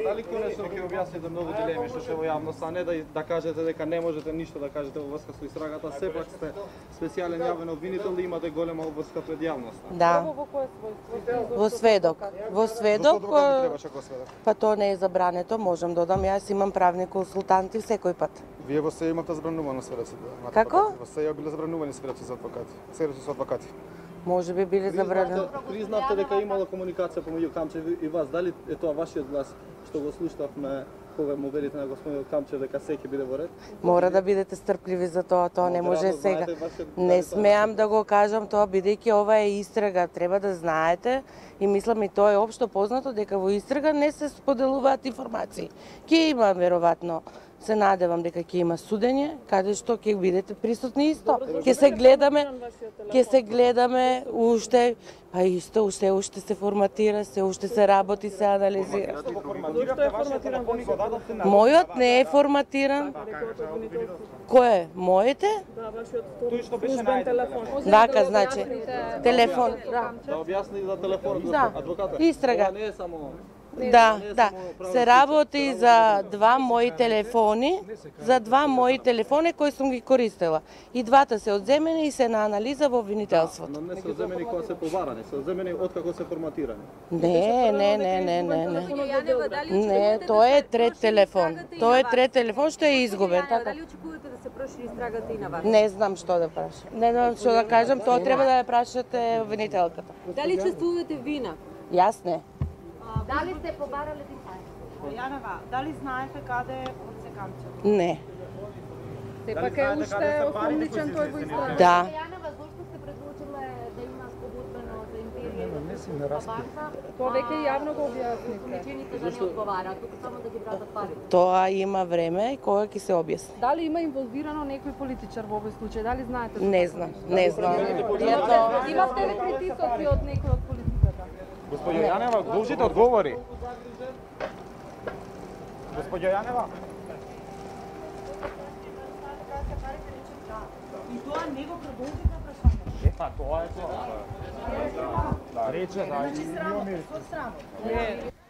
Дали конечно ќе објасните многу дилеми што во јавност, а не да кажете дека не можете ништо да кажете во врска со истрагата, сепак сте специјален јавен обвинител и имате голема обврска пред јавноста. Да. Во сведок. Во сведок. Па тоа не е забрането, можам да додам. Јас имам правни консултанти секој пат. Вие во се имате забранувано сведоци? Како? Во се биле забранувани сведоци за адвокати. Сведоци со адвокати. Може би биле забранувани. Признавте дека имало комуникација помеѓу Камчев и вас. Дали е тоа вашиот глас што го слушнавме кога му велите на господинот Камчев дека се ќе биде во ред? Мора да бидете стрпливи за тоа не може сега. Не смеам да го кажам тоа, бидејќи ова е истрага, треба да знаете и мислам и тоа е општо познато дека во истрага не се споделуваат информации. Ќе има веројатно, се надевам дека ќе има судење, каде што ќе бидете присутни исто. Ќе се гледаме уште, па исто уште се форматира, уште се работи, се анализира. Мојот не е форматиран. Кој е? Моите? Да, вашиот службен телефон. Дака, значи, телефон. Да објасни за телефонот, адвоката. Истрага. Ова не е само... Да, се работи за два мои телефони кои сум ги користела. И двата се одземени и се на анализа во обвинителството. Но не се одземени кога се побарани, се одземени откако се форматирани. Не, тоа е трет телефон. Тоа е трет телефон што е изгубен. Дали очекувате да се прошири истрагата и на вас? Не знам што да прашам. Не знам што да кажам, тоа треба да ја прашате обвинителката. Дали чувствувате вина? Јас не. Дали сте побарале Јанева, дали знаете каде е Орце Камчев? Не. Сепак е уште осомничен тој во истрага. Да. Јанева, зошто сте предлучиле да има спогодбено за империја? Тоа веќе јавно го објаснивте. Причините да не одговараат, тука само да ги вратат пари. Тоа има време и кога ќе се објасни. Дали има инволвирано некој политичар во овој случај? Дали знаете? Не знам. Имавте ли притисоци од некој од политиката? Господјо Јанева, должите одговори. Господјо Јанева. И тоа не го продолжи на прашање. Па тоа е тоа. Да, рече, да, Значи срамот, со срамот.